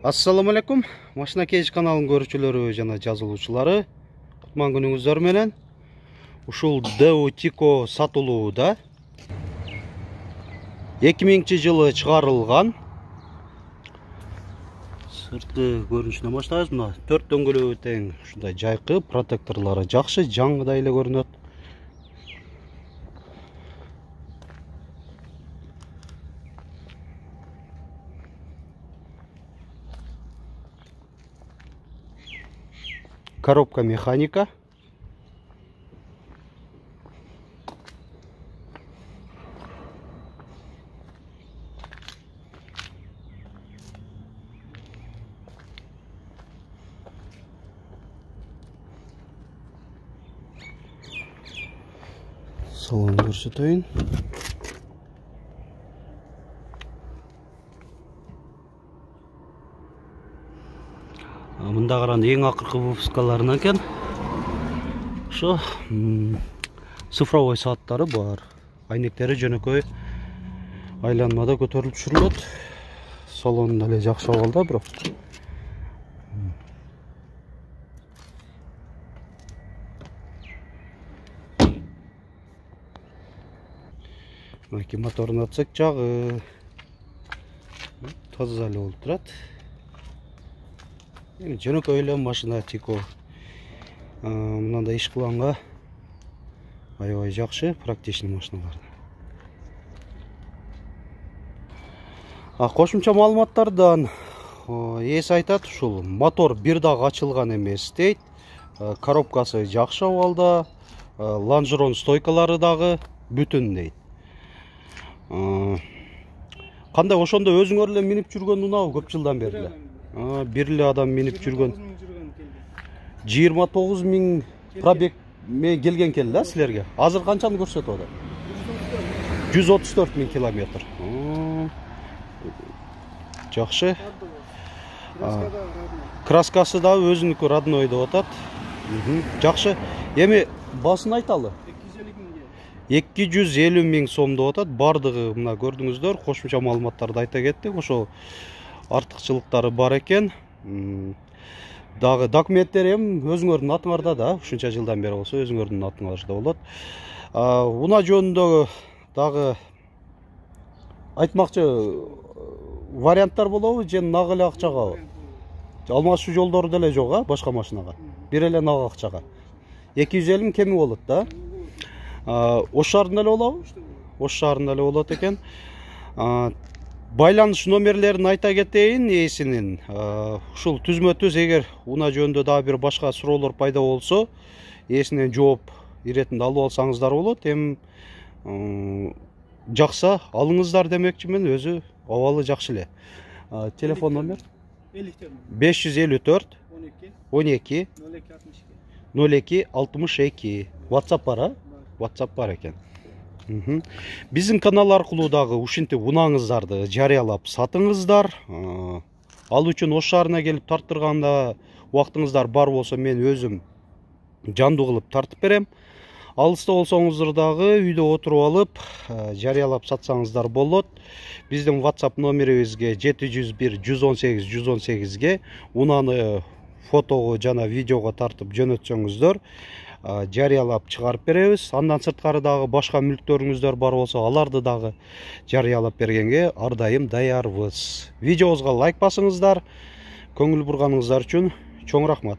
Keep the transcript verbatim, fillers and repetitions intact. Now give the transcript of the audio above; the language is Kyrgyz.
Assalamu alaikum. Машина кеш каналынын көрүүчүлөрү жана жазылуучулары. Кутман күнүңүздөр менен. Ушул Deo Tico сатылууда. эки миңинчи жылы чыгарылган. Сырты көрүнүшүнөн баштайбыз. Мына төрт дөңгөлөгү тең ушундай жайкы, протекторлору жакшы, жаңгыдай эле көрүнөт. Коробка механика. Салон көрсөтөйүн. Мында каран эң акыркы выпускаларынан экен. Ошо цифровой сааттары бар. Айнектери жөнөкөй айланмада көтөрүлүп түшүрүлөт. Салон деле жакшы абалда, бирок. Мына моторун атсак, жагы таза эле болуп турат. Жөнөкөй эле машина Tico. Мындай иш кылганга аябай жакшы, практичный машиналар. А кошумча маалыматтардан ээси айтат, ушул мотор бир дагы ачылган эмес дейт. Коробкасы жакшы абалда, лонжерон стойкалары дагы бүтүн дейт. Кандай ошондо өзүңөр эле минип жүргөн унаабы көп жылдан бери эле? Бир эле адам минип жүргөн. жыйырма тогуз миң пробег келген экен да силерге. Азыр канчаны көрсөтүп атат? жүз отуз төрт миң километр. Жакшы. Краскасы да өзүнүкү родной деп атат. Жакшы. Эми басын айталы. эки жүз элүү миң сом деп атат. Бардыгы мына көрдүңүздөр, кошумча маалыматтарды айта кеттик. Ошо артыкчылыктары бар экен. Дагы документтери эми өзүңөрдүн атыңарда да, ушунча жылдан бери болсо өзүңөрдүн атыңарда болот. Уна жөнүндө дагы айтмакчы варианттар болобу, же нак эле акчагабы? Алмашуу жолдору деле жок, а башка машинага. Бир эле нак акчага. эки жүз элүү миң кеми болот да. Ош шаарында эле болобу? Ош шаарында эле болот экен. Байланыш номерлерин айта кетейин ээсинин. Ушул түзмө-түз эгер уна жөнүндө дагы бир башка суроолор пайда болсо, ээсинен жооп иретинде алып алсаңыздар болот. Эми жакса алыңыздар демекчимин, өзү абалы жакшы эле. Телефон номер беш жүз элүү төрт он эки ноль эки алтымыш эки. WhatsApp бар, а? WhatsApp бар экен. Биздин канал аркылуу дагы ушинтип унаңыздарды жарыялап сатыңыздар. Ал үчүн Ош шаарына келип тарттырганда убактыңыздар бар болсо, мен өзүм жандуу кылып тартып берем. Алыста болсоңуздар дагы үйдө отуруп алып жарыялап сатсаңыздар болот. Биздин WhatsApp номерибизге жети жүз бир жүз он сегиз жүз он сегизге унаны фотого жана видеого тартып жөнөтсөңүздөр жарыялап чыгарып беребиз. Андан сырткары дагы башка мүлктөрүңүздөр бар болсо, аларды дагы жарыялап бергенге ар дайым даярбыз. Видеобузга лайк басыңыздар. Көңүл бурганыңыздар үчүн чоң рахмат.